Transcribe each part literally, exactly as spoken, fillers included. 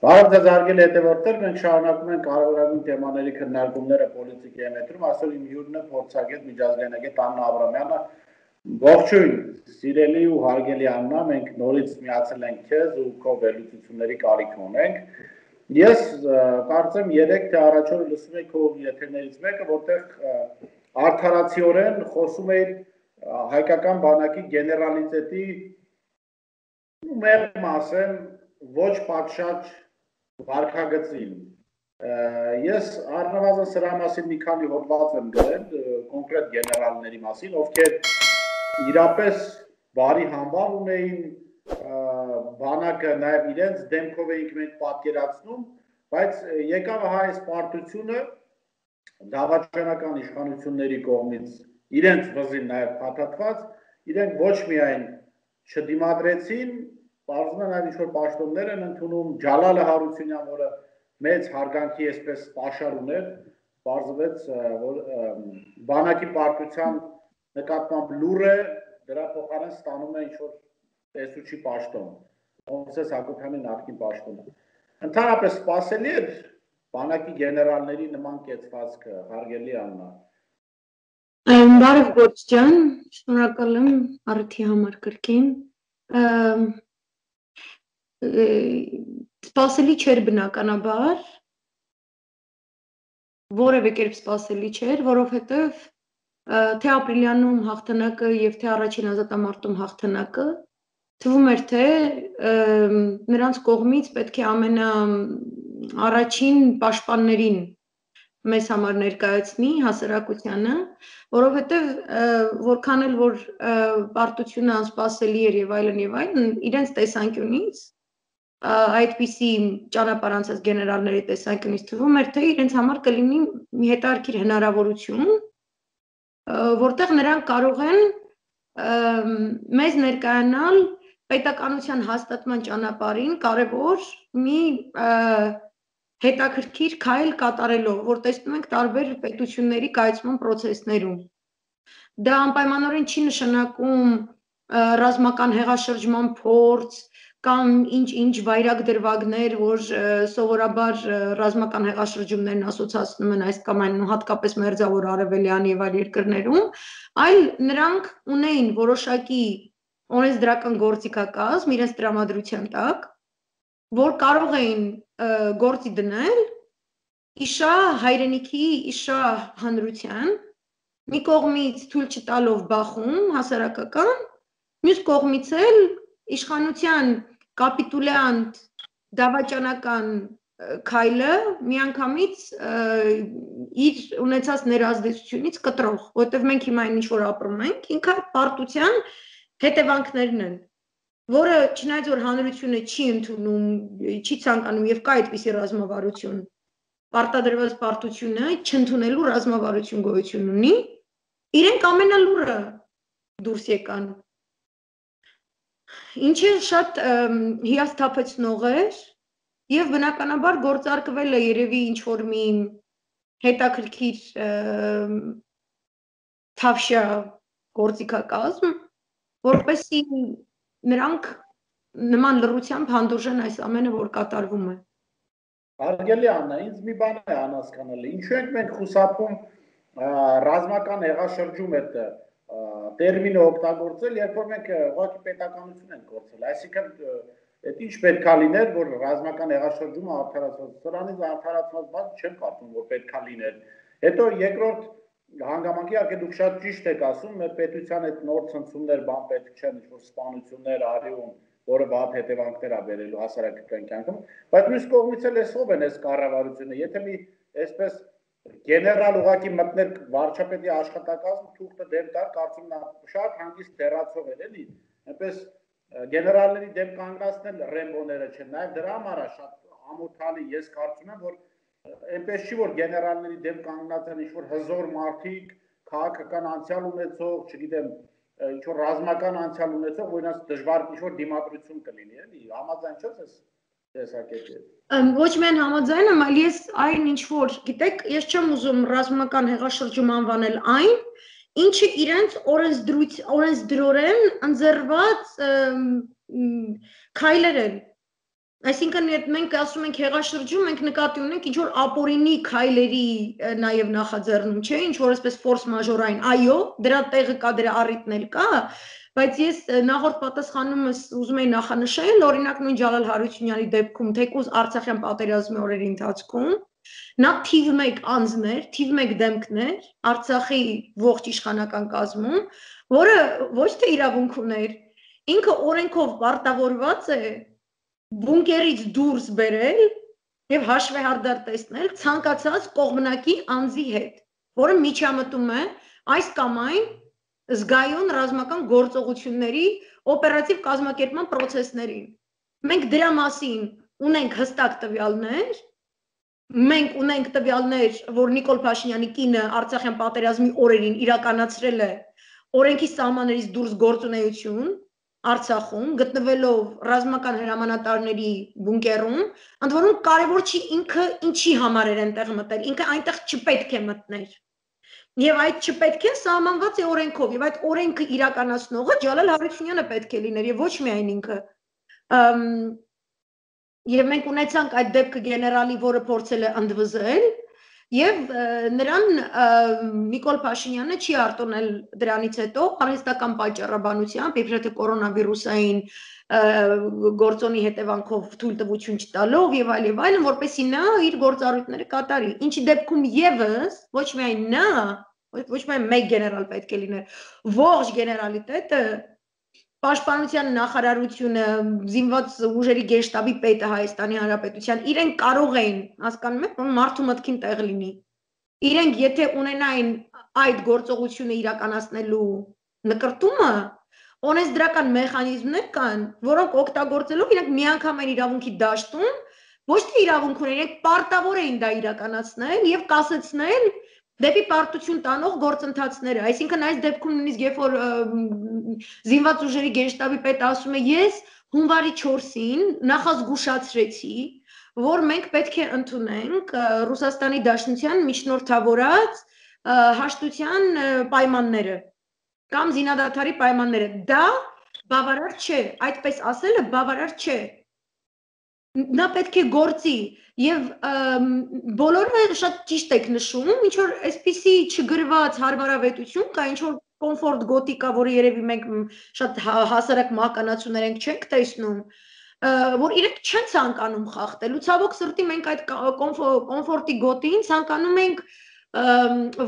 Բարև ձեզ հարգելի հետևորդներ, մենք շարունակում ենք կարևորագույն թեմաների քննարկումները պոլիտիկայի մետրում, այսօր իմ հյուրն է փորձագետ միջազգայնագետ Աննա Աբրամյանը։ Ողջույն, սիրելի ու հարգելի Աննա, մենք նորից միացել ենք քեզ ու քո վերլուծությունների կարիք ունենք։ Ես կարծեմ երեք թե առաջ օրը լսում էի քո եթերներից մեկը, որտեղ արդարացիորեն խոսում էի հայկական բանակի գեներալիտետի մեղմ ասեմ ոչ պատշաճ վարքագծին։ Ես առնվազն սրա մասին մի քանի հոդված եմ գրել կոնկրետ գեներալների մասին, ովքեր իրապես բարի համբավ ունեին, բանակը նաև իրենց դեմքով էինք մենք պատկերացնում, բայց եկավ այս պարտությունը դավաճանական իշխանությունների կողմից իրենց վզին նաև փաթաթված, իրենք ոչ միայն չդիմադրեցին, պարզվում է նաև ինչ-որ պաշտոններ են ընդունում, Ջալալը Հարությունյան, որը մեծ հարգանքի այսպես պաշար ուներ, պարզվեց, որ բանակի պարտության նկատմամբ լուր է, դրա փոխարեն ստանում է ինչ-որ տեսուչի պաշտոն, Մովսես Հակոբյանի նախկին պաշտոնը։ Ընդհանրապես սպասելի էր բանակի գեներալների նման կեցվածքը, հարգելի Աննա։ Բարև Գործ ջան, շնորհակալ եմ առիթի համար կրկին։ Սպասելի չէր բնականաբար, որևէ կերպ սպասելի չէր, որովհետև թե ապրիլյանում հաղթանակը և թե առաջին ազատամարտում հաղթանակը թվում էր, թե նրանց կողմից պետք է ամենաառաջին պաշտպաններին մեզ համար ներկայացնի հասարակությանը, որովհետև որքան էլ որ պարտությունը անսպասելի էր եւ այլն եւ այլն, իրենց տեսանկյունից այդպիսի ճանապարհ անցած գեներալների տեսանկյունից թվում էր, թե իրենց համար կլինի մի հետաքրքիր հնարավորություն, որտեղ նրանք կարող են մեզ ներկայանալ պետականության հաստատման ճանապարհին կարևոր մի հետաքրքիր քայլ կատարելով, որ տեսնում ենք տարբեր պետությունների կայացման պրոցեսներում։ Դա անպայմանորեն չի նշանակում ռազմական հեղաշրջման փորձ կամ ինչ-ինչ վայրագ դրվագներ, որ սովորաբար ռազմական հեղաշրջումներն ասոցացնում են այս կամ այն, հատկապես Մերձավոր Արևելյան եւ այլ երկրներում, այլ նրանք ունեին որոշակի օրենսդրական գործիքակազմ իրենց տրամադրության տակ, որ կարող էին գործի դնել իշա հայրենիքի, իշա հանրության, մի կողմից թույլ չտալով բախում հասարակական, մյուս կողմից էլ իշխանության կապիտուլյանտ դավաճանական քայլը միանգամից իր ունեցած ներազդեցությունից կտրող, որովհետև մենք հիմա այն ինչ որ ապրում ենք, ինքը պարտության հետևանքներն են, որը չնայած որ հանրությունը չի ընդունում, չի ցանկանում եւ կա այդպիսի ռազմավարություն, պարտադրված պարտությունը չընդունելու ռազմավարություն գոյություն ունի, իրենք ամենալուրը դուրս եկան։ Ինչը շատ հիասթափեցնող էր եւ բնականաբար գործարկվել է երևի ինչ որ մի հետաքրքիր թավշյա գործիքակազմ, որպեսզի նրանք նման լռությամբ հանդուրժեն այս ամենը, որ կատարվում է։ Հարգելի Աննա, ինձ մի բան է անհասկանալի, ինչու ենք մենք խուսափում ռազմական հեղաշրջում այդ տերմինը օգտագործել, երբ որ մենք ուղղակի պետականություն ենք գործել, այսինքն այդ ինչ պետք է լիներ, որ ռազմական հեղաշրջումը արդարացված, սրանից արդարացված բան չեմ կարծում, որ պետք է լիներ։ Հետո երկրորդ հանգամանքի իհարկե դուք շատ ճիշտ եք ասում, մեր պետության այդ նոր ցնցումներ բան պետք չեն, ինչ որ սպանություններ արիում, որը վատ հետևանքներ է բերելու հասարակական կյանքում, բայց մյուս կողմից էլ էս ով են այս կառավարությունը, եթե մի այսպես գեներալ ուղղակի մտներ վարչապետի աշխատակազմ թուղթը դեմ տար, կարծում նա շատ հանգիստ դերացող էր, էլի, այնպես գեներալների դեմ կանգնացնել ռեմբոները չեն, նաև դրա համար է շատ ամոթալի, ես կարծում եմ, որ այնպես չի, որ գեներալների դեմ կանգնած են ինչ-որ հզոր մարդիկ, քաղաքական անցյալ ունեցող, չգիտեմ, ինչ-որ ռազմական անցյալ ունեցող, որ իրենց դժվար ինչ-որ դիմադրություն կլինի, էլի, համաձայն չես ես տեսակետի։ Ոչ միայն համաձայն եմ, այլ ես այն ինչ որ, գիտեք, ես չեմ ուզում ռազմական հեղաշրջում անվանել այն, ինչը իրենց օրենսդրորեն ընձեռված քայլեր են, Այսինքն մենք ասում ենք հեղաշրջում, մենք նկատի ունենք ինչ որ ապօրինի քայլերի նաև նախաձեռնում, չէ, ինչ որ այսպես ֆորս մաժորային, այո, դրա տեղը կա, դրա առիթն էլ կա, բայց ես նախորդ պատասխանումս ուզում եի նախանշել, օրինակ նույն Ջալալ Հարությունյանի դեպքում, թեկուզ Արցախյան պատերազմի օրերի ընթացքում, նա թիվ մեկ անձներ, թիվ մեկ դեմքներ Արցախի ողջ իշխանական կազմում, որը ոչ թե իրավունք ուներ, ինքը օրենքով պարտավորված է բունկերից դուրս բերել եւ հաշվեհարդար տեսնել ցանկացած կողմնակի անձի հետ, որը միջամտում է այս կամ այն զգայուն ռազմական գործողությունների օպերատիվ կազմակերպման process-ներին։ Մենք դրա մասին ունենք հստակ տվյալներ, մենք ունենք տվյալներ, որ Նիկոլ Փաշինյանի կինը Արցախյան պատերազմի օրերին իրականացրել է օրենքի սահմաններից դուրս գործունեություն Արցախում, գտնվելով ռազմական հրամանատարների բունկերում, ընդ որում կարևոր չի ինքը ինչի համար էր այնտեղ մտել, ինքը այնտեղ չպետք է մտներ։ Եվ այդ չպետք է սահմանված է օրենքով, եւ այդ օրենքը իրականացնողը Ջալալ Հարությունյանը պետք է լիներ, եւ ոչ միայն ինքը։ Եվ մենք ունեցանք այդ դեպքը գեներալի, որը փորձել է ընդվզել, եւ նրան Նիկոլ Փաշինյանը չի արտոնել դրանից հետո արհեստական պատճառաբանությամբ, իբրև թե կորոնավիրուսային գործոնի հետևանքով թույլտվություն չտալով եւ այլ եւ այլն, որպեսզի նա իր գործառույթները կատարի։ Ինչի դեպքում եւս ոչ միայն նա, ոչ միայն մեկ գեներալ պետք է լիներ, ողջ գեներալիտետը, Պաշտպանության նախարարությունը, զինված ուժերի գեշտաբի պետը Հայաստանի Հանրապետության, իրենք կարող էին, հասկանում եք, մարդու մտքին տեղ լինի։ Իրենք եթե ունենային այդ գործողությունը իրականացնելու նկրտումը, օրենսդրական մեխանիզմներ կան, որոնք օգտագործելով իրենք միանգամայն իրավունքի դաշտում, ոչ թե իրավունք ունեն, իրենք պարտավոր էին դա իրականացնել եւ կասեցնել դեպի պարտություն տանող գործընթացները, այսինքն այս դեպքում նույնիսկ երբ որ զինված ուժերի գենշտաբի պետը ասում է ես հունվարի չորսին նախազգուշացրեցի, որ մենք պետք է ընդունենք Ռուսաստանի Դաշնության միջնորդավորած հաշտության պայմանները կամ զինադադարի պայմանները, դա բավարար չէ, այդպես ասելը բավարար չէ։ Նա պետք է գործի եւ բոլորը շատ ճիշտ եք նշում, ինչ որ այսպիսի չգրված հարմարավետություն կա, ինչ որ կոմֆորտ գոտի կա, որը երևի մենք շատ հասարակ մահկանացուներ ենք չենք տեսնում, որ իրենք չեն ցանկանում խախտել։ Ու ցավոք սրտի մենք այդ կոմֆորտի գոտին ցանկանում ենք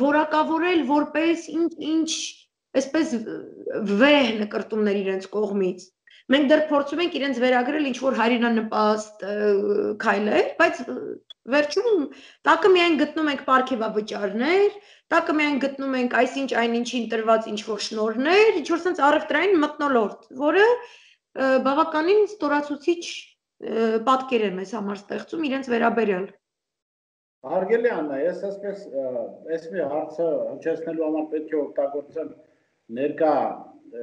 որակավորել որպես ինչ-ինչ այսպես վեհ նկրտումներ իրենց կողմից։ Մենք դեռ փորձում ենք իրենց վերագրել ինչ-որ հայրենանպաստ քայլեր, բայց վերջում տակը միայն գտնում ենք պարգևավճարներ, տակը միայն գտնում ենք այսինչ այնինչին տրված ինչ-որ շնորհներ, ինչ-որ sense առևտրային մթնոլորտ, որը բավականին ստորացուցիչ պատկեր է մեզ համար ստեղծում իրենց վերաբերյալ։ Հարգելի Աննա, ես այսպես այս մի հարցը հնչեցնելու համար պետք է օգտագործեմ ներկա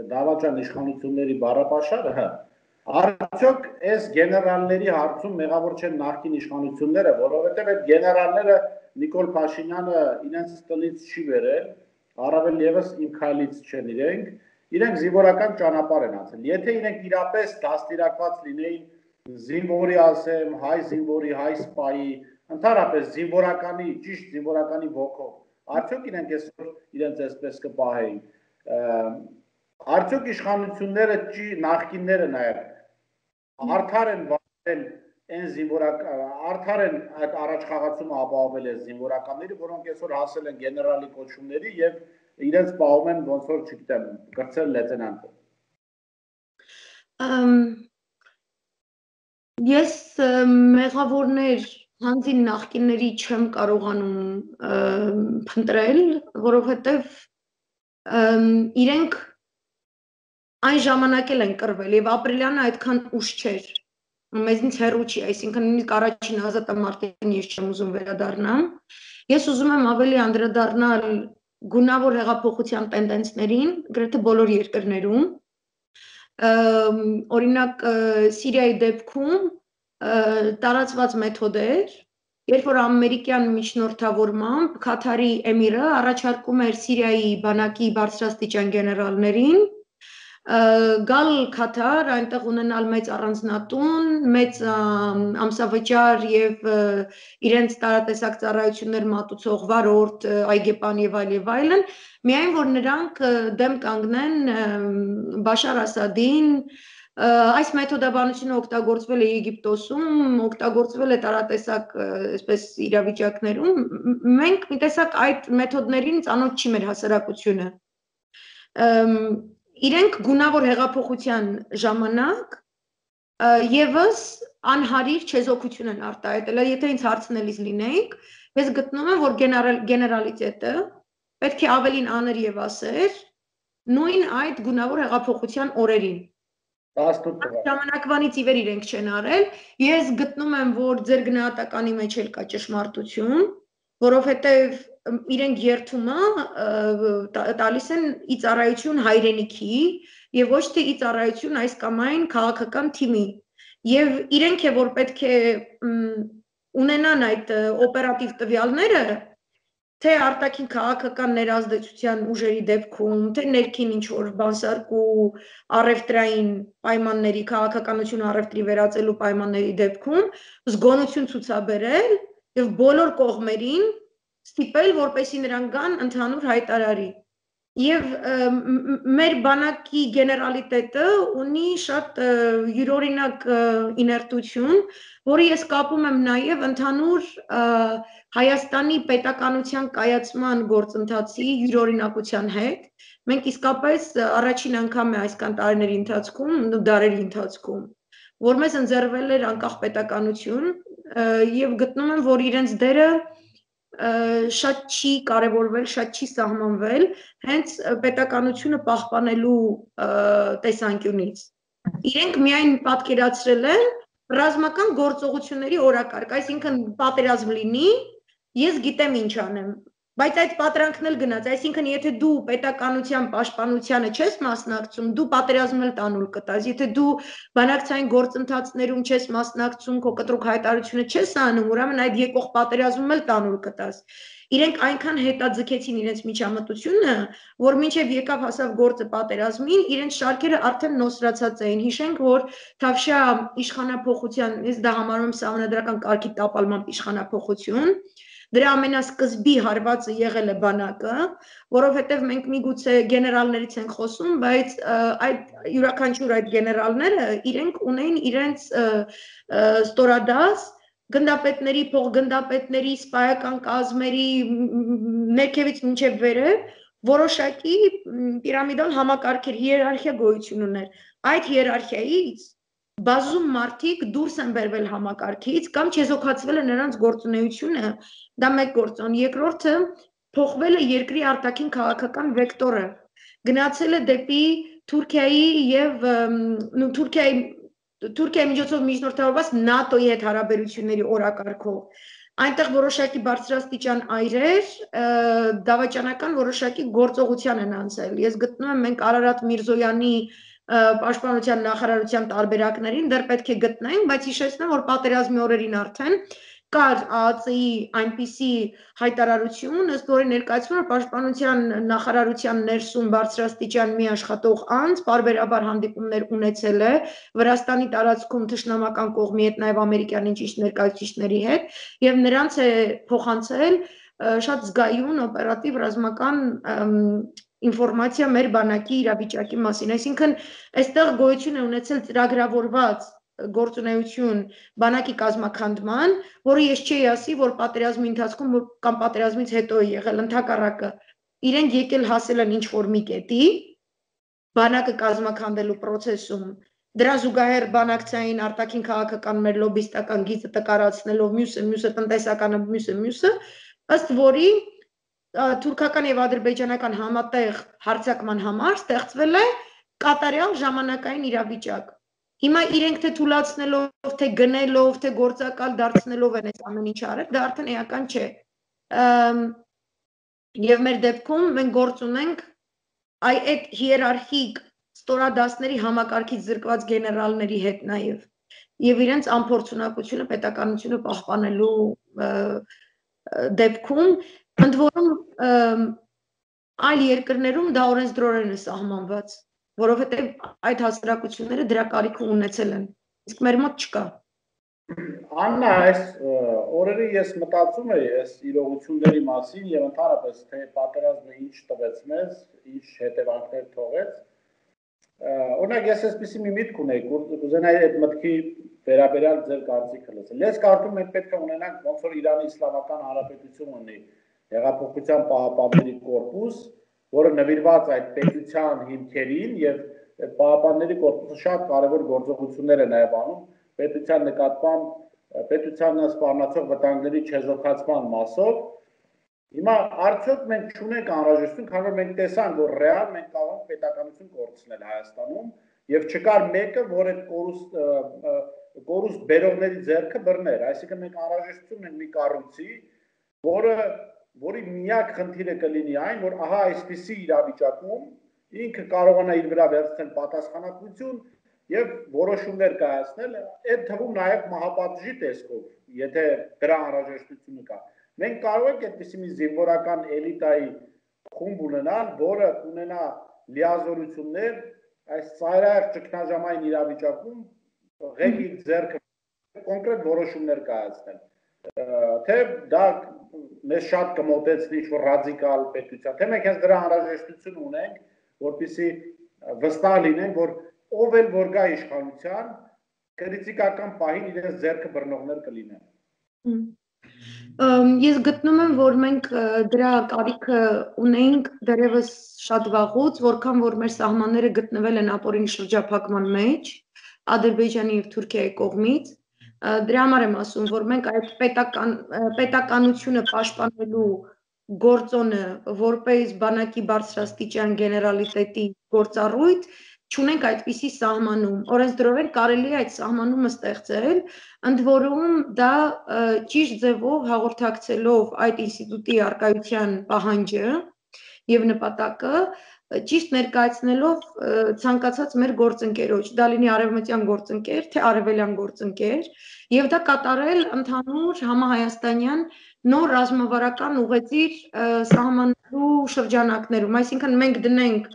դավաճան իշխանությունների բառապաշարը, արդյոք այս գեներալների հարցում մեղավոր չեն նախկին իշխանությունները, որովհետև այդ գեներալները Նիկոլ Փաշինյանը իրենց տնից չի վերել, առավել ևս իմ քայլից չեն իրենք, իրենք զինվորական ճանապարհ են անցել։ Եթե իրենք իրապես դաստիարակված լինեին զինվորի, ասեմ, հայ զինվորի, հայ սպայի, ընդհանրապես զինվորականի, ճիշտ զինվորականի ոգով, արդյոք իրենք այսօր իրենց այսպես կպահեին։ Արդյոք իշխանությունները նախկինները նաև արդար են վարել այն զինվորական, արդար են այդ առաջխաղացումը ապահովել այս զինվորականների, որոնք այսօր հասել են գեներալի կոչումների եւ իրենց պահում են ոնց որ չգիտեմ, կրծել լեյտենանտը։ Ես մեղավորներ հանձին նախկինների չեմ կարողանում փնտրել, որովհետեւ իրենք այն ժամանակ էլ են կռվել եւ ապրիլյանը այդքան ուշ չէր, մեզնից հեռու չի, այսինքն նույնիսկ առաջին ազատամարտին ես չեմ ուզում վերադառնամ, ես ուզում եմ ավելի անդրադառնալ գունավոր հեղափոխության տենդենսներին գրեթե բոլոր երկրներում, օրինակ Սիրիայի դեպքում տարածված մեթոդ էր, երբ որ ամերիկյան միջնորդավորմամբ Քաթարի էմիրը առաջարկում էր Սիրիայի բանակի բարձրաստիճան գեներալներին գալ Քաթար, այնտեղ ունենալ մեծ առանձնատուն, մեծ ամսավճար եւ իրենց տարատեսակ ծառայություններ մատուցող վարորդ, այգեպան եւ այլ եւ այլն, միայն որ նրանք դեմ կանգնեն Բաշար Ասադին, այս մեթոդաբանությունը օգտագործվել է Եգիպտոսում, օգտագործվել է տարատեսակ այսպես իրավիճակներում, մենք մի տեսակ այդ մեթոդներին ծանոթ չի մեր հասարակությունը։ Իրենք գունավոր հեղափոխության ժամանակ եւս անհարիր չեզոքություն են արտահայտել, եթե ինձ հարցնելիս լինեիք, ես գտնում եմ, որ գեներալիտետը պետք է ավելին աներ եւ ասեր նույն այդ գունավոր հեղափոխության օրերին։ Ժամանակվանից ի վեր իրենք չեն արել, ես գտնում եմ, որ ձեր գնահատականի մեջ էլ կա ճշմարտություն, որովհետեւ իրենք երթումը տալիս են ի ծառայություն հայրենիքի եւ ոչ թե ի ծառայություն այս կամ այն քաղաքական թիմի եւ իրենք է որ պետք է ունենան այդ օպերատիվ տվյալները թե արտաքին քաղաքական ներազդեցության ուժերի դեպքում թե ներքին ինչ որ բանսարկու առևտրային պայմանների քաղաքականություն առևտրի վերածելու պայմանների դեպքում զգոնություն ցուցաբերել եւ բոլոր կողմերին ստիպել, որպեսզի նրանք գան ընդհանուր հայտարարի։ Եվ մեր բանակի գեներալիտետը ունի շատ յուրօրինակ իներտություն, որը ես կապում եմ նաև ընդհանուր Հայաստանի պետականության կայացման գործընթացի յուրօրինակության հետ։ Մենք իսկապես առաջին անգամ է այսքան տարիների ընթացքում, դարերի ընթացքում, որ մեզ ընձեռվել էր անկախ պետականություն եւ գտնում եմ, որ իրենց դերը շատ չի կարևորվել, շատ չի սահմանվել հենց պետականությունը պահպանելու տեսանկյունից։ Իրենք միայն պատկերացրել են ռազմական գործողությունների օրակարգ, այսինքն պատերազմ լինի, ես գիտեմ ինչ անեմ, բայց այդ պատրանքն էլ գնաց, այսինքն եթե դու պետականության պաշտպանությանը չես մասնակցում, դու պատերազմն էլ տանուլ կտաս, եթե դու բանակցային գործընթացներում չես մասնակցում, քո կտրուկ հայտարարությունը չես անում, ուրեմն այդ եկող պատերազմում էլ տանուլ կտաս։ Իրենք այնքան հետաձգեցին իրենց միջամտությունը, որ մինչև եկավ հասավ գործը պատերազմին, իրենց շարքերը արդեն նոսրացած էին։ Հիշենք, որ Թավշյա իշխանափոխության, ես դա համարում եմ սահմանադրական կարգի տապալման իշխանափոխություն, դրա ամենասկզբի հարվածը եղել է բանակը, որովհետև մենք միգուցե գեներալներից ենք խոսում, բայց այդ յուրաքանչյուր այդ գեներալները իրենք ունեին իրենց ստորադաս գնդապետների, փոխգնդապետների, սպայական կազմերի ներքևից մինչև վերև որոշակի պիրամիդալ համակարգեր, հիերարխիա գոյություն ուներ։ Այդ հիերարխիայից բազում մարդիկ դուրս են բերվել համակարգից կամ չեզոքացվել է նրանց գործունեությունը, դա մեկ գործոն, երկրորդը փոխվել է երկրի արտաքին քաղաքական վեկտորը, գնացել է դեպի Թուրքիայի եւ Թուրքիայի Թուրքիայի միջոցով միջնորդավորված ՆԱՏՕ-ի հետ հարաբերությունների օրակարգով, այնտեղ որոշակի բարձրաստիճան այրեր, դավաճանական որոշակի գործողության են անցել։ Ես գտնում եմ մենք Արարատ Միրզոյանի պաշտպանության նախարարության տարբերակներին դեռ պետք է գտնենք, բայց հիշեցնեմ, որ պատերազմի օրերին արդեն կար ԱԱԾ-ի այնպիսի հայտարարություն, ըստ որի ներկայացվում էր պաշտպանության նախարարության ներսում բարձրաստիճան մի աշխատող անձ, պարբերաբար հանդիպումներ ունեցել է Վրաստանի տարածքում թշնամական կողմի հետ, նաև ամերիկյան ինչ-ինչ ներկայացուցիչների հետ, եւ նրանց է փոխանցել շատ զգայուն օպերատիվ ռազմական ինֆորմացիա մեր բանակի իրավիճակի մասին, այսինքն այստեղ գոյություն է ունեցել ծրագրավորված գործունեություն բանակի կազմաքանդման, որը ես չի ասի, որ պատերազմի ընթացքում կամ պատերազմից հետո է եղել, ընդհակառակը իրենք եկել հասել են ինչ-որ մի կետի, բանակը կազմաքանդելու process-ում, դրա զուգահեռ բանակցային արտաքին քաղաքական մեր լոբիստական գիծը տկարացնելով մյուսը, մյուսը տնտեսականը, մյուսը, մյուսը, ըստ որի թուրքական եւ ադրբեջանական համատեղ հարձակման համար ստեղծվել է կատարյալ ժամանակային իրավիճակ։ Հիմա իրենք թե թուլացնելով, թե գնելով, թե գործակալ դարձնելով են այս ամեն ինչ արել, դա արդեն էական չէ։ Եվ մեր դեպքում մենք գործ ունենք այդ հիերարխիկ ստորադասների համակարգից զրկված գեներալների հետ նաև եւ իրենց անփորձունակությունը պետականությունը պահպանելու դեպքում ընդ որում այլ երկրներում դա օրենսդրորեն է սահմանված։ որովհետև այդ հասարակությունները դրա կարիքը ունեցել են, իսկ մեր մոտ չկա։ Աննա, այս օրերի ես մտածում էի այս իրողությունների մասին եւ ընդհանրապես թե պատերազմը ինչ տվեց մեզ, ինչ հետևանքներ թողեց։ Օրինակ ես այսպեսի մի միտք ունեի, կուզենայի այդ մտքի վերաբերյալ ձեր կարծիքը լսել։ Ես կարծում եմ պետք է ունենանք ոնց որ Իրանի Իսլամական Հանրապետություն ունի Հեղափոխության պահապանների կորպուս, որը նվիրված այդ պետության հիմքերին եւ այդ պահապանների կորպուսը շատ կարեւոր գործողություններ է նաեւ անում պետության նկատմամբ պետությանը սպառնացող վտանգների չեզոքացման մասով։ Հիմա արդյոք մենք չունենք անհրաժեշտություն, քանի որ մենք տեսանք, որ ռեալ մենք կարող ենք պետականություն կորցնել Հայաստանում եւ չկար մեկը, որ այդ կորուստ կորուստ բերողների ձեռքը բռներ, այսինքն մենք անհրաժեշտություն ունենք մի կառույցի, որը որի միակ խնդիրը կլինի այն, որ ահա այսպիսի իրավիճակում ինքը կարողանա իր վրա վերցնել պատասխանատվություն եւ որոշումներ կայացնել, այդ թվում նաեւ մահապատժի տեսքով, եթե դրա անհրաժեշտությունը կա։ Մենք կարող ենք այդպիսի մի զինվորական էլիտայի խումբ ունենալ, որը ունենա լիազորություններ այս ծայրահեղ ճգնաժամային իրավիճակում ղեկի ձեռքը կոնկրետ որոշումներ կայացնել։ Թե դա մեզ շատ կմոտեցնի ինչ-որ ռադիկալ պետության, թե մենք հենց դրա անհրաժեշտություն ունենք, որպեսզի վստահ լինենք, որ ով էլ որ գա իշխանության, քրիտիկական պահին իրենց ձեռքը բռնողներ կլինեն։ Ես գտնում եմ, որ մենք դրա կարիքը ունենք դեռևս շատ վաղուց, որքան որ մեր սահմանները գտնվել են ապօրինի շրջափակման մեջ, Ադրբեջանի եւ Թուրքիայի կողմից, դրա համար եմ ասում, որ մենք այդ պետական պետականությունը պաշտպանելու գործոնը որպես բանակի բարձրաստիճան գեներալիտետի գործառույթ չունենք այդպիսի սահմանում, օրենսդրորեն կարելի է այդ սահմանումը ստեղծել, ընդ որում դա ճիշտ ձևով հաղորդակցելով այդ ինստիտուտի առկայության պահանջը եւ նպատակը ճիշտ ներկայացնելով ցանկացած մեր գործընկերոջ, դա լինի արևմտյան գործընկեր, թե արևելյան գործընկեր, եւ դա կատարել ընդհանուր համահայաստանյան նոր ռազմավարական ուղեծիր սահմանելու շրջանակներում, այսինքն մենք դնենք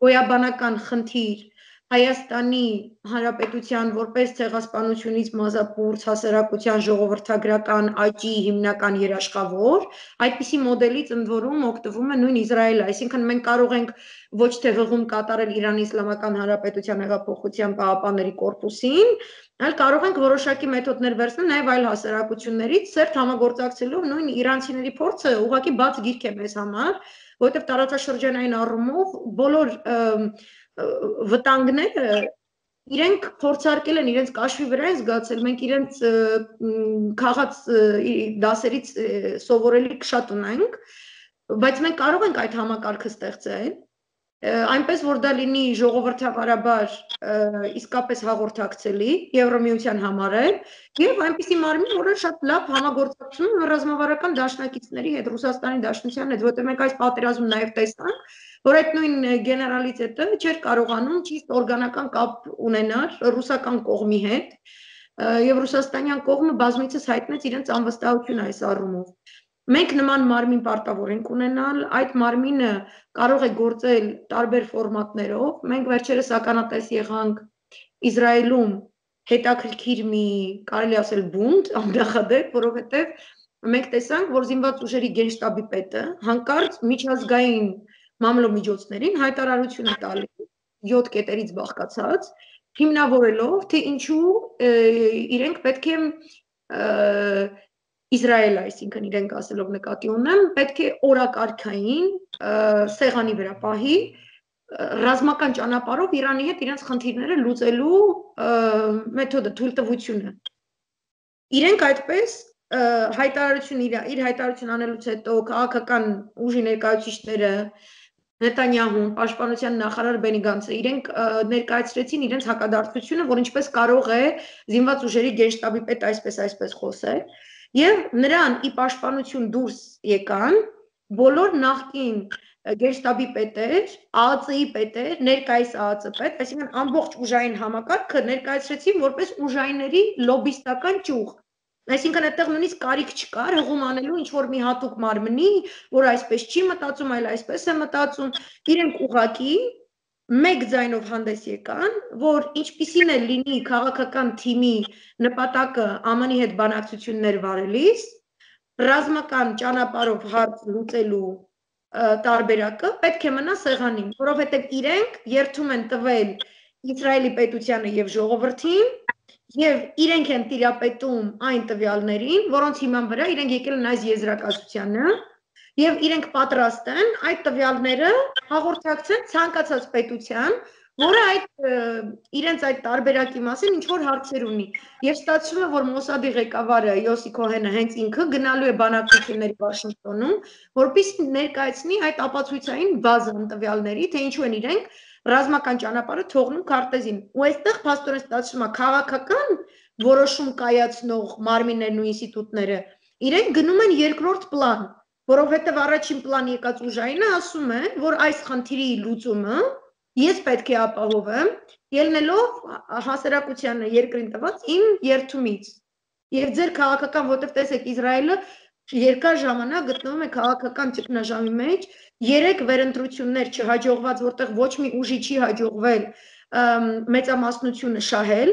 գոյաբանական խնդիր Հայաստանի Հանրապետության որպես ցեղասպանությունից մազապուրց հասարակության ժողովրդագրական աճի հիմնական երաշխավոր, այդպիսի մոդելից ընդ որում օգտվում է նույն Իսրայելը, այսինքն մենք կարող ենք ոչ թե հղում կատարել Իրանի Իսլամական Հանրապետության հեղափոխության պահապանների կորպուսին, այլ կարող ենք որոշակի մեթոդներ վերցնել նաև այլ հասարակություններից, սերտ համագործակցելով նույն իրանցիների փորձը ուղղակի բաց գիրք է մեզ համար, որովհետև տարածաշրջանային առումով բոլոր վտանգները իրենք փորձարկել են, իրենց կաշվի վրա են զգացել, մենք իրենց քաղաց դասերից սովորելիք շատ ունենք, բայց մենք կարող ենք այդ համակարգը ստեղծել, այնպես որ դա լինի ժողովրդավարաբար իսկապես հաղորդակցելի Եվրամիության համար է եւ այնպիսի մարմին, որը շատ լավ համագործակցում է ռազմավարական դաշնակիցների հետ, Ռուսաստանի Դաշնության հետ, որտեղ մենք այս պատերազմում նաեւ տեսանք, որ այդ նույն գեներալիտետը չէր կարողանում ճիշտ օրգանական կապ ունենալ ռուսական կողմի հետ եւ ռուսաստանյան կողմը բազմիցս հայտնեց իրենց անվստահությունը այս առումով։ Մենք նման մարմին պարտավոր ենք ունենալ, այդ մարմինը կարող է գործել տարբեր ֆորմատներով, մենք վերջերս ականատես եղանք Իսրայելում հետաքրքիր մի, կարելի ասել բունտ, աննախադեպ, որովհետև մենք տեսանք, որ զինված ուժերի գենշտաբի պետը հանկարծ միջազգային մամլոմիջոցներին հայտարարություն է տալիս յոթ կետերից բաղկացած, հիմնավորելով, թե ինչու իրենք պետք է Իսրայելը, այսինքն իրենք ասելով նկատի ունեմ, պետք է օրակարգային սեղանի վրա պահի ռազմական ճանապարհով Իրանի հետ իրենց խնդիրները լուծելու մեթոդը, թույլտվությունը։ Իրենք այդպես հայտարարություն իր, իր հայտարարություն անելուց հետո քաղաքական ուժի ներկայացուցիչները Նետանյահուն, պաշտպանության նախարար Բենի Գանցը, իրենք ներկայացրեցին իրենց հակադարձությունը, որ ինչպես կարող է զինված ուժերի գենշտաբի պետ այսպես այսպես խոսել, եւ նրան ի պաշտպանություն դուրս եկան բոլոր նախկին գենշտաբի պետեր, ԱԱԾ-ի պետեր, ներկայիս ԱԱԾ պետ, այսինքն ամբողջ ուժային համակարգը ներկայացրեցին որպես ուժայինների լոբիստական ճյուղ։ Այսինքն այդտեղ նույնիսկ կարիք չկար հղում անելու ինչ-որ մի հատուկ մարմնի, որ այսպես չի մտածում, այլ այսպես է մտածում, իրենք ուղղակի մեկ ձայնով հանդես եկան, որ ինչպիսին է լինի քաղաքական թիմի նպատակը Է Մ Ն-ի հետ բանակցություններ վարելիս, ռազմական ճանապարհով հարց լուծելու տարբերակը պետք է մնա սեղանին, որովհետև իրենք երթում են տվել Իսրայելի պետությանը եւ ժողովրդին եւ իրենք են տիրապետում այն տվյալներին, որոնց հիման վրա իրենք եկել են այս եզրակացությանը եւ իրենք պատրաստ են այդ տվյալները հաղորդակցեն ցանկացած պետության, որը այդ իրենց այդ տարբերակի մասին ինչ որ հարցեր ունի եւ ստացվում է որ Մոսադի ղեկավարը Յոսի Քոհենը հենց ինքը գնալու է բանակցությունների Վաշինգտոնում, որպեսզի ներկայացնի այդ ապացույցային բազան տվյալների, թե ինչու են իրենք ռազմական ճանապարհը թողնում քարտեզին։ Ու այստեղ փաստորեն ստացվում է քաղաքական որոշում կայացնող մարմիններն ու ինստիտուտները իրենք գնում են երկրորդ պլան, որովհետև առաջին պլան եկած ուժայինը ասում է, որ այս խնդիրի լուծումը ես պետք է ապահովեմ, ելնելով հասարակությանը երկրին տված իմ երթումից։ Եվ ձեր քաղաքական, որտեղ տեսեք Իսրայելը երկար ժամանակ գտնվում է քաղաքական ճգնաժամի մեջ, երեք վերընտրություններ չհաջողված, որտեղ ոչ մի ուժի չի հաջողվել մեծամասնությունը շահել,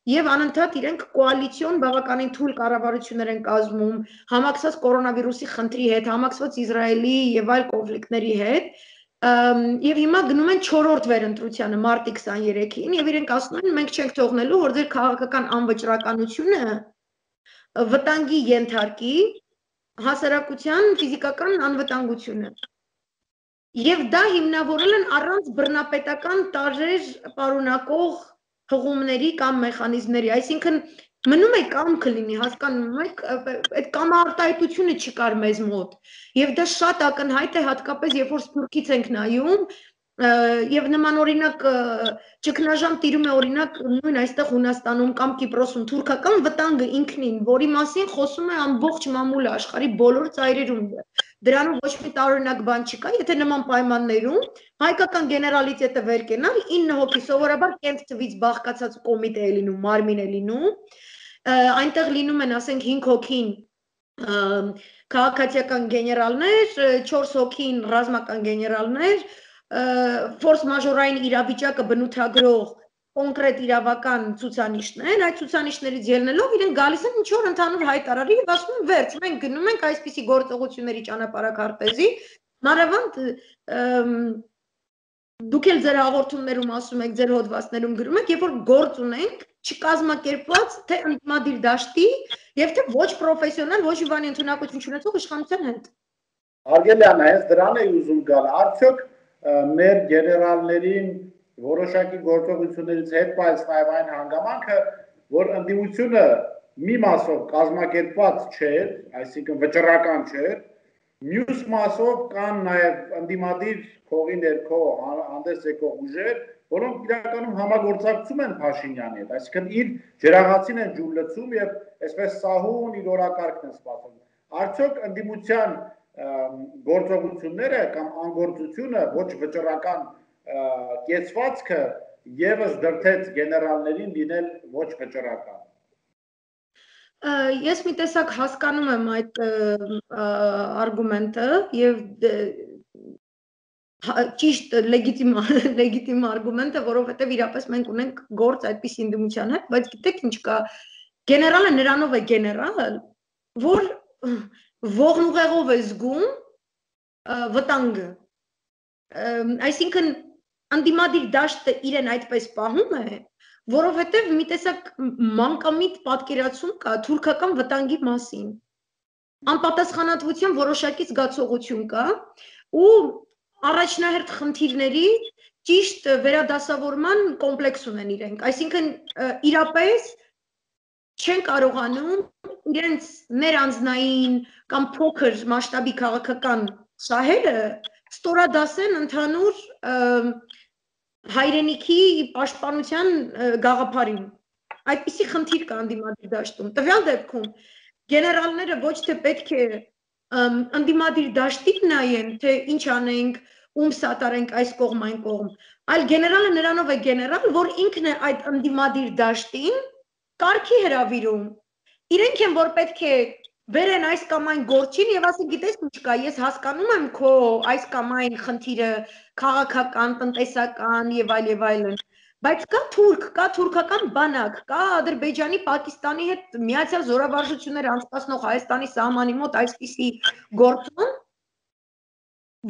եւ անընդհատ իրենք կոալիցիոն բավականին թույլ կառավարություններ են կազմում, համակցված կորոնավիրուսի խնդրի հետ, համակցված Իսրայելի եւ այլ կոնֆլիկտների հետ, եւ հիմա գնում են չորրորդ վերընտրությանը մարտի քսաներեքին եւ իրենք ասում են մենք չենք թողնելու, որ ձեր քաղաքական անվճռականությունը վտանգի ենթարկի հասարակության ֆիզիկական անվտանգությունը։ Եվ դա հիմնավորել են առանց բռնապետական տարրեր պարունակող հղումների կամ մեխանիզմների, այսինքն մնում է կամքը լինի, հասկանում եք, այդ կամարտահայտությունը չկար մեզ մոտ, եւ դա շատ ակնհայտ է հատկապես երբ որ Սփյուռքից ենք նայում, եւ նման օրինակ ճգնաժամ տիրում է օրինակ նույն այստեղ Հունաստանում կամ Կիպրոսում թուրքական վտանգը ինքնին, որի մասին խոսում է ամբողջ մամուլը աշխարհի բոլոր ծայրերում։ Դրանով ոչ մի տարօրինակ բան չկա, եթե նման պայմաններում հայկական գեներալիտետը վեր կենալ ինը հոգի սովորաբար կենտ թվից բաղկացած կոմիտե է լինում, մարմին է լինում, այնտեղ լինում են, ասենք, հինգ հոգին քաղաքացիական գեներալներ, չորս հոգին ռազմական գեներալներ, ֆորս մաժորային իրավիճակը բնութագրող կոնկրետ իրավական ցուցանիշներ, այդ ցուցանիշներից ելնելով իրենք գալիս են ինչ որ ընդհանուր հայտարարի եւ ասում են վերջ, մենք գնում ենք այսպիսի գործողությունների ճանապարհակարտեզի, մանավանդ դուք էլ ձեր հաղորդումներում ասում եք, ձեր հոդվածներում գրում եք, երբ որ գործ ունենք չկազմակերպված թե ընդդիմադիր դաշտի եւ թե ոչ պրոֆեսիոնալ, ոչ մի բանի ընդունակություն չունեցող իշխանության հետ։ Արգելյան, այս դրան է ուզում գալ, արդյոք մեր գեներալներին որոշակի գործողություններից հետ բայց նաև այն հանգամանքը, որ ընդդիմությունը մի մասով կազմակերպված չէր, այսինքն վճռական չէր, մյուս մասով կան նաև ընդդիմադիր փողի ներքո հանդես եկող ուժեր, որոնք իրականում համագործակցում են Փաշինյանի հետ, այսինքն իր ջրաղացին են ջուր լցում եւ այսպես սահուն իր օրակարգն են սպասում։ Արդյոք ընդդիմության գործողությունները կամ անգործությունը ոչ վճռական կեցվածքը եւս դրթեց գեներալներին լինել ոչ վճռական։ Ես մի տեսակ հասկանում եմ այդ արգումենտը եւ ճիշտ լեգիտիմ լեգիտիմ արգումենտ է, որովհետեւ իրապես մենք ունենք գործ այդպիսի ընդդիմության հետ, բայց գիտեք ինչ կա, գեներալը նրանով է գեներալ, որ ողնուղեղով է զգում վտանգը, այսինքն ընդդիմադիր դաշտը իրեն այդպես պահում է, որովհետև մի տեսակ մանկամիտ պատկերացում կա թուրքական վտանգի մասին, անպատասխանատվության որոշակի զգացողություն կա ու առաջնահերթ խնդիրների ճիշտ վերադասավորման կոմպլեքս ունեն իրենք, այսինքն իրապես չեն կարողանում իրենց ներանձնային կամ փոքր մասշտաբի քաղաքական շահերը ստորադասեն ընդհանուր հայրենիքի պաշտպանության գաղափարին։ Այդպիսի խնդիր կա ընդդիմադիր դաշտում։ Տվյալ դեպքում գեներալները ոչ թե պետք է ընդդիմադիր դաշտին նայեն, թե ինչ անենք, ում սատարենք այս կողմ այն կողմ, այլ գեներալը նրանով է գեներալ, որ ինքն է այդ ընդդիմադիր դաշտին կարգի հրավիրում։ Իրենք են, որ պետք է բերեն այս կամ այն գործին եւ ասեն գիտես ինչ կա, ես հասկանում եմ քո այս կամ այն խնդիրը քաղաքական, տնտեսական եւ այլ եւ այլն, բայց կա թուրք, կա թուրքական բանակ, կա Ադրբեջանի, Պակիստանի հետ միացյալ զորավարժություններ անցկացնող Հայաստանի սահմանի մոտ այսպիսի գործում,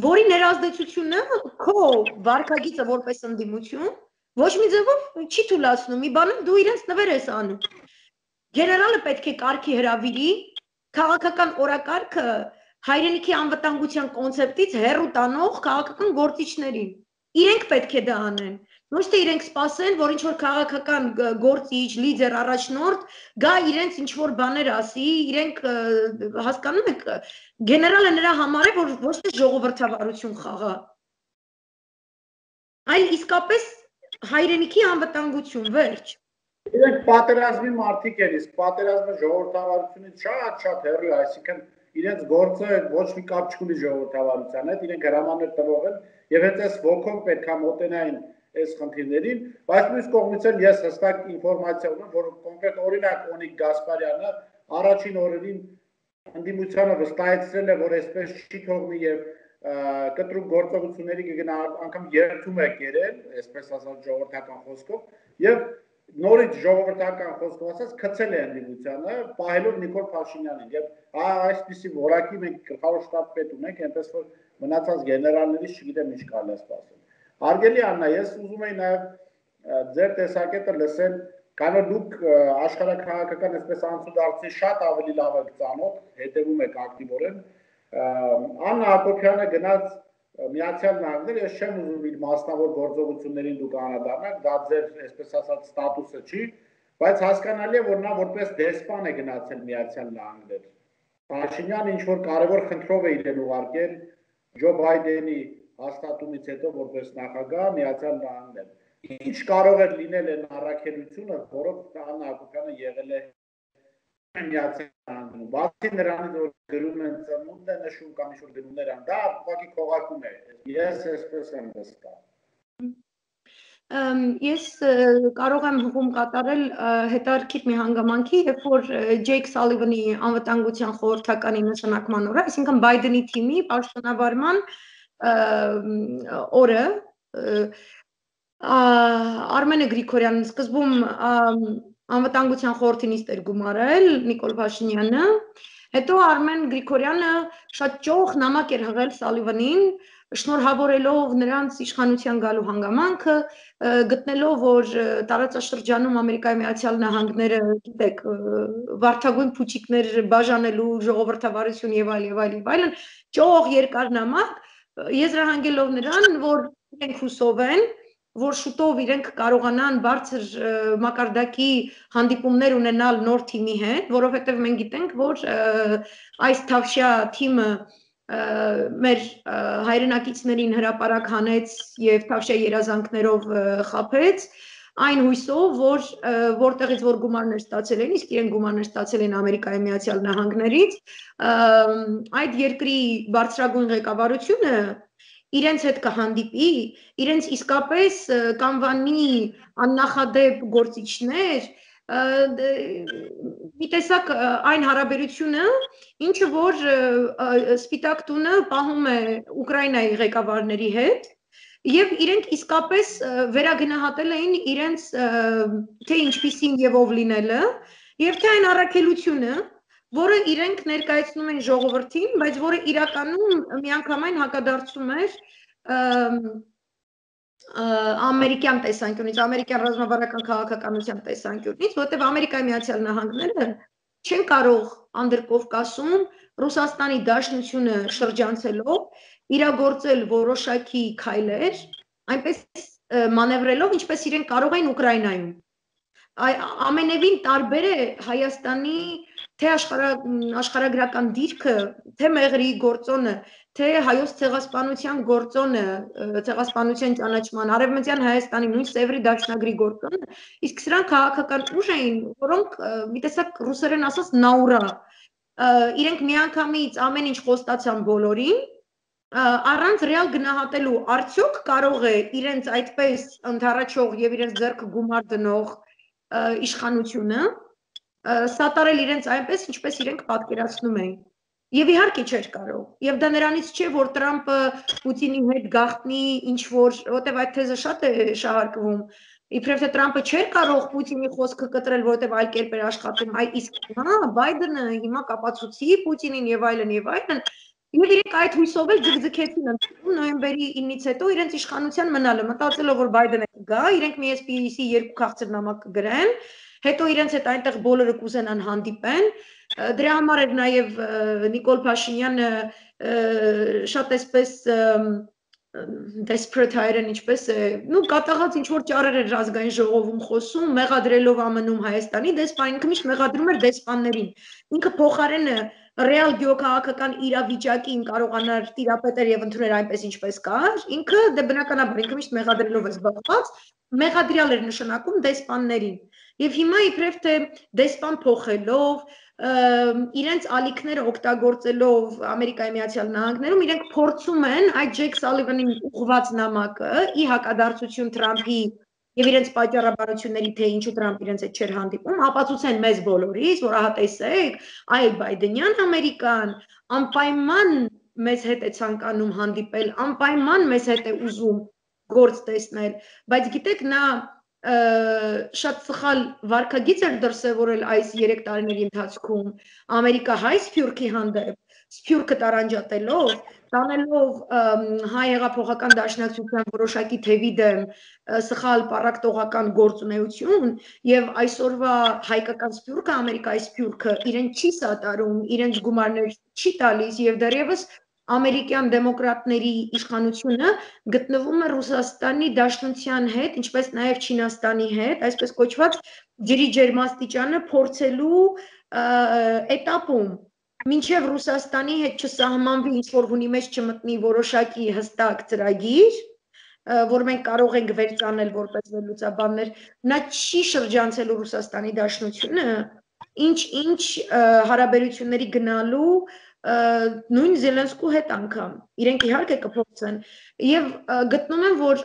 որի ներազդեցությունը քո վարքագիծը որպես ընդդիմություն ոչ մի ձևով չի թույլատնում, մի բանում դու իրենց նվեր ես անում։ Գեներալը պետք է կարգի հրավիրի քաղաքական օրակարգը հայրենիքի անվտանգության կոնցեպտից հեռու տանող քաղաքական գործիչներին։ Իրենք պետք է դա անեն։ Ոչ թե իրենք սպասեն, որ ինչ-որ քաղաքական գործիչ, լիդեր, առաջնորդ գա իրենց ինչ-որ բաներ ասի, իրենք հասկանում եք, գեներալը նրա համար է, որ ոչ թե ժողովրդավարություն խաղա, այլ իսկապես հայրենիքի անվտանգություն, վերջ։ Իրենք պատերազմի մարդիկ են, իսկ պատերազմը ժողովրդավարությունից շատ-շատ հեռու է, այսինքն իրենց գործը ոչ մի կապ չունի ժողովրդավարության հետ, իրենք հրամաններ տվող են եւ հենց այս ոգով պետք է մոտենային այս խնդիրներին, բայց մյուս կողմից էլ ես հստակ ինֆորմացիա ունեմ, որ կոնկրետ օրինակ Օնիկ Գասպարյանը առաջին օրերին ընդդիմությանը վստահեցրել է, որ այսպես չի թողնի եւ կտրուկ գործողությունների կգնա, անգամ երթում է կերել, այսպես ասած ժողովրդական խոսքով եւ նորից ժողովրդական խոսքով ասած գցել է ընդդիմությանը, պահելով Նիկոլ Փաշինյանին եւ այսպիսի որակի մենք գլխավոր շտաբ պետ ունենք, այնպես որ մնացած գեներալներից չգիտեմ ինչ կարելի է սպասել։ Հարգելի Աննա, ես ուզում եի նաեւ ձեր տեսակետը լսել, քանի որ դուք աշխարհաքաղաքական այսպես անցուդարձի շատ ավելի լավ եք ծանոթ, հետևում եք ակտիվորեն։ Աննա Հակոբյանը գնաց Միացյալ Նահանգներ, ես չեմ ուզում իր մասնավոր գործողություններին դուք անդրադառնաք, դա ձեր այսպես ասած ստատուսը չի, բայց հասկանալի է, որ նա որպես դեսպան է գնացել Միացյալ Նահանգներ։ Փաշինյանը ինչ որ կարևոր խնդրով է իրեն ուղարկել Ջո Բայդենի հաստատումից հետո որպես նախագահ Միացյալ Նահանգներ։ Ինչ կարող է լինել այն առաքելությունը, որով Աննա Հակոբյանը եղել է Միացյալ Նահանգներում, բացի նրանից, որ գրում են ծնունդ է նշում կամ ինչ-որ գրումներ են, դա ուղղակի քողարկում է, ես այսպես եմ տեսնում։ Ես կարող եմ հղում կատարել հետարքիր մի հանգամանքի, երբ որ Ջեյք Սալիվանի անվտանգության խորհրդականի նշանակման օրը, այսինքն Բայդենի թիմի պաշտոնավարման օրը, Արմենը Գրիգորյանն սկզբում անվտանգության խորհրդի նիստ էր գումարել Նիկոլ Փաշինյանը, հետո Արմեն Գրիգորյանը շատ ճոխ նամակ էր հղել Սալիվանին, շնորհավորելով նրանց իշխանության գալու հանգամանքը, գտնելով, որ տարածաշրջանում Ամերիկայի Միացյալ Նահանգները, գիտեք, վարդագույն փուչիկներ բաժանելու ժողովրդավարություն եւ այլ եւ այլ եւ այլն, ճոխ երկար նամակ, եզրահանգելով նրան, որ իրենք հուսով են, որ շուտով իրենք կարողանան բարձր մակարդակի հանդիպումներ ունենալ նոր թիմի հետ, որովհետև մենք գիտենք, որ այս թավշյա թիմը մեր հայրենակիցներին հրապարակ հանեց եւ թավշյա երազանքներով խաբեց, այն հույսով, որ որտեղից որ գումարներ ստացել են, իսկ իրենք գումարներ ստացել են Ամերիկայի Միացյալ Նահանգներից, այդ երկրի բարձրագույն ղեկավարությունը իրենց հետ կհանդիպի, իրենց իսկապես կանվանի աննախադեպ գործիչներ, մի տեսակ այն հարաբերությունը, ինչը որ Սպիտակ տունը պահում է Ուկրաինայի ղեկավարների հետ, եւ իրենք իսկապես վերագնահատել էին իրենց թե ինչպիսին եւ ով լինելը, եւ թե այն առաքելությունը, որը իրենք ներկայացնում են ժողովրդին, բայց որը իրականում միանգամայն հակադարձում էր ամերիկյան տեսանկյունից, ամերիկյան ռազմավարական քաղաքականության տեսանկյունից, որտեղ Ամերիկայի Միացյալ Նահանգները չեն կարող Անդրկովկասում Ռուսաստանի Դաշնությունը շրջանցելով իրագործել որոշակի քայլեր, այնպես մանևրելով, ինչպես իրենք կարող են Ուկրաինայում։ Ամենևին տարբեր է Հայաստանի թե աշխարհագրական դիրքը, թե մեղրի գործոնը, թե հայոց ցեղասպանության գործոնը, ցեղասպանության ճանաչման, արևմտյան Հայաստանի նույն Սևրի դաշնագրի գործոնը, իսկ սրանք քաղաքական ուժ էին, որոնք մի տեսակ ռուսերեն ասած նաուրա, իրենք միանգամից ամեն ինչ խոստացան բոլորին, առանց ռեալ գնահատելու արդյոք կարող է իրենց այդպես ընդառաջող եւ իրենց ձեռքը գումար դնող իշխանությունը սատարել իրենց այնպես, ինչպես իրենք պատկերացնում էին։ Եվ իհարկե չէր կարող։ Եվ դա նրանից չէ, որ Տրամպը Պուտինի հետ գաղտնի ինչ որ, որտեվ այդ թեզը շատ է շահարկվում։ Իբրև թե Տրամպը չէր կարող Պուտինի խոսքը կտրել, որտեվ այլ կերպ էր աշխատում, այ իսկ հիմա Բայդենը հիմա կապացուցի Պուտինին եւ այլն եւ այլն, եւ իրենք այդ հույսով էլ ձգձգեցին նոյեմբերի ինից հետո իրենց իշխանության մնալը, մտածելով որ Բայդենը կգա, իրենք մի էսպիսի երկու քաղցր նամակ կգրեն, հետո իրենց հետ այնտեղ բոլորը կուզենան հանդիպեն։ Դրա համար էր նաև Նիկոլ Փաշինյանը շատ էսպես desperate հայերեն ինչպես է, նու կատաղած ինչ որ ճարեր էր ազգային ժողովում խոսում, մեղադրելով ԱՄՆ-ում Հայաստանի դեսպան, ինքը միշտ մեղադրում էր դեսպաններին։ Ինքը փոխարենը ռեալ գյուղաքաղաքական իրավիճակին կարողանար տիրապետել եւ ընդունել այնպես ինչպես կար, ինքը դե բնականաբար ինքը միշտ մեղադրելով է զբաղված, մեղադրյալ էր նշանակում դեսպաններին։ Եվ հիմա իբրև թե դեսպան փոխելով, իրենց ալիքները օգտագործելով Ամերիկայի Միացյալ Նահանգներում իրենք փորձում են այդ Ջեյք Սալիվանին ուղղված նամակը ի հակադարձություն Թրամփի եւ իրենց պատճառաբանությունների թե ինչու Թրամփ իրենց հետ չէր հանդիպում, ապացուցեն մեզ բոլորիս, որ ահա տեսեք, այ Բայդենյան Ամերիկան անպայման մեզ հետ է ցանկանում հանդիպել, անպայման մեզ հետ է ուզում գործ տեսնել, բայց գիտեք նա շատ սխալ վարքագիծ էր դրսևորել այս երեք տարիների ընթացքում Ամերիկա հայ սփյուռքի հանդեպ սփյուռքը տարանջատելով, տանելով հայ հեղափոխական դաշնակցության որոշակի թևի դեմ սխալ պառակտողական գործունեություն եւ այսօրվա հայկական սփյուռքը Ամերիկայի սփյուռքը իրեն չի սատարում, իրենց գումարներ չի տալիս եւ դեռևս ամերիկյան դեմոկրատների իշխանությունը գտնվում է Ռուսաստանի Դաշնության հետ, ինչպես նաև Չինաստանի հետ, այսպես կոչված ջրի ջերմաստիճանը փորձելու էտապում, մինչև Ռուսաստանի հետ չսահմանվի ինչ-որ հունի մեջ չմտնի որոշակի հստակ ծրագիր, որ մենք կարող ենք վերցնել որպես վերլուծաբաններ, նա չի շրջանցելու Ռուսաստանի Դաշնությունը, ինչ-ինչ հարաբերությունների գնալու նույն Զելենսկու հետ անգամ, իրենք իհարկե կփոխեն եւ գտնում եմ, որ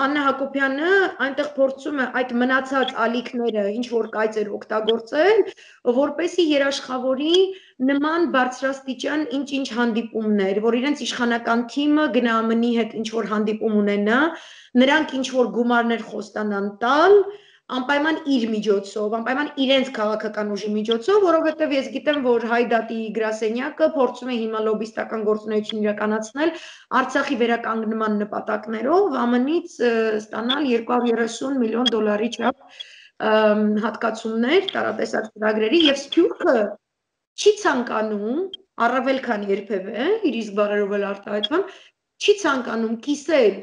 Աննա Հակոբյանը այնտեղ փորձում է այդ մնացած ալիքները ինչ որ կայծեր օգտագործել, որպեսի երաշխավորի նման բարձրաստիճան ինչ-ինչ հանդիպումներ, որ իրենց իշխանական թիմը գնա ԱՄՆ-ի հետ ինչ որ հանդիպում ունենա, նրանք ինչ որ գումարներ խոստանան տալ, անպայման իր միջոցով, անպայման իրենց քաղաքական ուժի միջոցով, որովհետև ես գիտեմ, որ Հայդատի գրասենյակը փորձում է հիմա լոբիստական գործունեություն իրականացնել Արցախի վերականգնման նպատակներով ԱՄՆ-ից ստանալ երկու հարյուր երեսուն միլիոն դոլարի չափ հատկացումներ տարատեսակ ծրագրերի եւ սփյուռքը չի ցանկանում, առավել քան երբևէ, իր իսկ բարերով էլ արտահայտվում, չի ցանկանում կիսել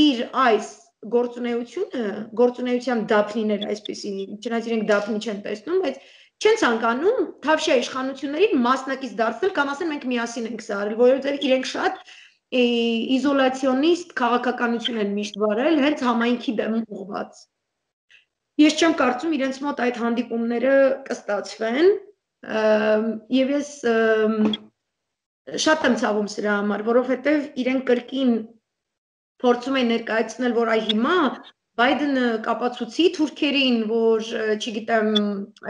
իր այս գործունեությունը, գործունեության դափնիներ այսպեսի, չնայած իրենք դափնի չեն տեսնում, բայց չեն ցանկանում Թավշյա իշխանություններին մասնակից դարձնել կամ ասեն մենք միասին ենք սա արել, որովհետև իրենք շատ իզոլացիոնիստ քաղաքականություն են միշտ վարել, հենց համայնքի դեմ ուղղված։ Ես չեմ կարծում իրենց մոտ այդ հանդիպումները կստացվեն, եւ ես շատ եմ ցավում սրա համար, որովհետև իրենք կրկին փորձում են ներկայացնել, որ այ հիմա Բայդենը կապացուցի թուրքերին, որ չգիտեմ,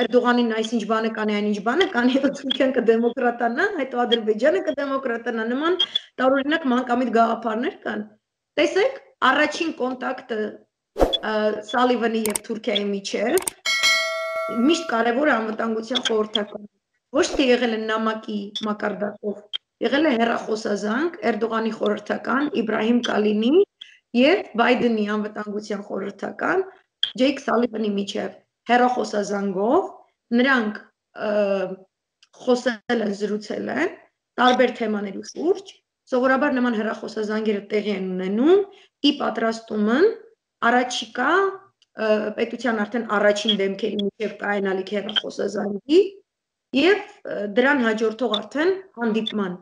Էրդողանին այսինչ բանը կանի, այնինչ բանը կանի, հետո Թուրքիան կդեմոկրատանա, հետո Ադրբեջանը կդեմոկրատանա, նման տարօրինակ մանկամիտ գաղափարներ կան։ Տեսեք, առաջին կոնտակտը Սալիվանի եւ Թուրքիայի միջեւ միշտ կարևոր է անվտանգության խորհրդականը։ Ոչ թե եղել է նամակի մակարդակով, եղել է հեռախոսազանգ Էրդողանի խորհրդական Իբրահիմ Կալինի եւ Բայդենի անվտանգության խորհրդական Ջեյք Սալիվանի միջեւ հեռախոսազանգով նրանք խոսել են, զրուցել են տարբեր թեմաների շուրջ, սովորաբար նման հեռախոսազանգերը տեղի են ունենում ի պատրաստումն առաջիկա պետության արդեն առաջին դեմքերի միջեւ կայանալիք հեռախոսազանգի եւ դրան հաջորդող արդեն հանդիպման։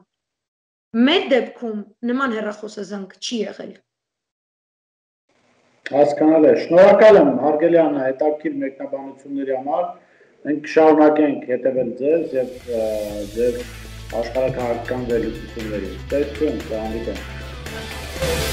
Մեր դեպքում նման հեռախոսազանգ չի եղել։ Հասկանալ է, շնորհակալ եմ հարգելի Աննա հետաքրքիր մեկնաբանությունների համար, մենք շարունակենք հետևել ձեզ եւ ձեր աշխարհաքաղաքական վերլուծությունների։ Տեսնենք, հանդիպենք։